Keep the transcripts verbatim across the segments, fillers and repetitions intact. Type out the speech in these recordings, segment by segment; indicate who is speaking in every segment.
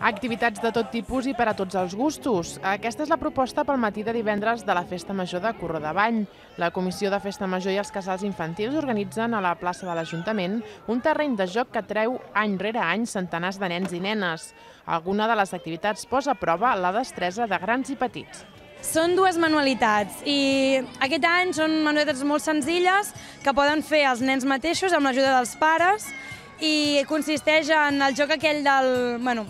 Speaker 1: Activitats de tot tipus i per a tots els gustos. Aquesta és la proposta pel matí de divendres de la Festa Major de Corrodavall. La Comissió de Festa Major i els casals infantils organitzen a la plaça de l'Ajuntament un terreny de joc que atreu any rere any centenars de nens i nenes. Alguna de les activitats posa a prova la destresa de grans i petits.
Speaker 2: Són dues manualitats i aquest any són manualitats molt senzilles que poden fer els nens mateixos amb l'ajuda dels pares i consisteix en el joc aquell del, bueno,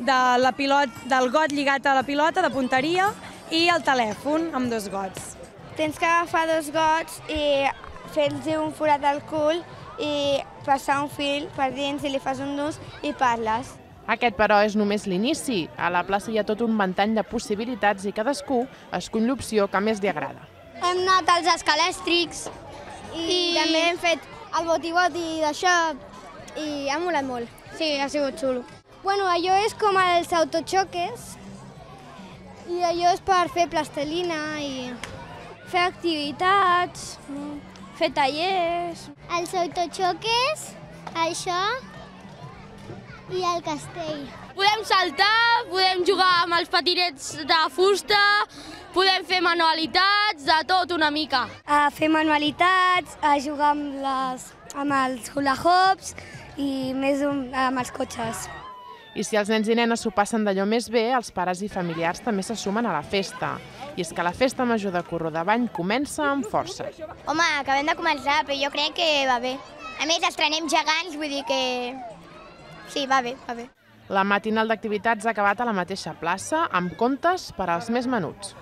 Speaker 2: de la pilot, del got lligat a la pilota, de punteria, i el telèfon amb dos gots.
Speaker 3: Tens que agafar dos gots i fer-los un forat al cul i passar un fil per dins i li fas un nus i parles.
Speaker 1: Aquest, però, és només l'inici. A la plaça hi ha tot un ventall de possibilitats i cadascú escull l'opció que més li agrada.
Speaker 4: Hem anat als escalèstrics i, I també hem fet el boti-boti d'això i ha molat molt. Sí, ha sigut xulo. Bueno, allò és com els autoxoques i allò és per fer plastelina i fer activitats, fer tallers.
Speaker 5: Els autoxoques, això i el castell.
Speaker 6: Podem saltar, podem jugar amb els patinets de fusta, podem fer manualitats, de tot una mica.
Speaker 3: A fer manualitats, a jugar amb, les, amb els hula hoops i més un, amb els cotxes.
Speaker 1: I si els nens i nenes s'ho passen d'allò més bé, els pares i familiars també se sumen a la festa. I és que la Festa Major de Corrodavall comença amb força.
Speaker 4: Home, acabem de començar, però jo crec que va bé. A més, estrenem gegants, vull dir que sí, va bé, va bé.
Speaker 1: La matinal d'activitats ha acabat a la mateixa plaça, amb contes per als més menuts.